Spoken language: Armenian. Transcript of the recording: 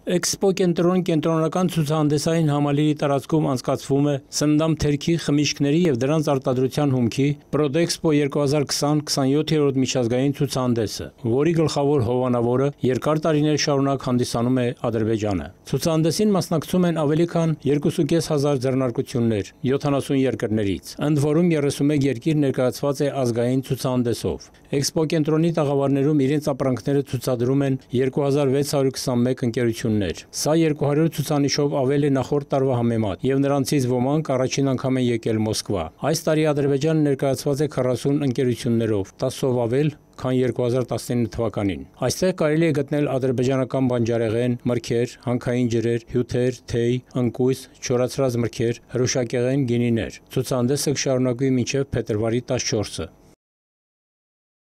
Էքսպո կենտրոնական ցուցահանդեսային համալիրի տարածքում անցկացվում է սննդամ թերքի, խմիչքների և դրանց արտադրության հումքի Պրոդէքսպո 2020-27-րդ միջազգային ցուցահանդեսը, որի գլխավոր հովանավորը երկար տարիներ շարունակ հանդիսանում է Ադրբեջանը։ Ցուցահանդեսին մասնակցում են ավելի քան 2500 ձեռնարկություններ 70 երկրներից, ընդ որում 31 երկիր ներկայացված է ազգային ցուցահանդեսով։ Էքսպո կենտրոնի տաղավարներում իրենց ապրանքները ցուցադրում են 2621 ընկերություններ։ Սա 200 ցուցանիշով ավել է նախորդ տարվա համեմատ, և նրանցից ոմանք առաջին անգամ են եկել Մոսկվա։ Այս տարի Ադրբեջանը ներկայացված է 40 ընկերություններով, 10-ով ավել, քան 2019 թվականին։ Այստեղ կարելի է գտնել ադրբեջանական բանջարեղեն, մրգեր, հանքային ջրեր, հյութեր, թեյ, ընկույզ, չորացրած մրգեր, հրուշակեղեն, գինիներ։ Ցուցահանդեսը կշարունակվի մինչև փետրվարի 14-ը։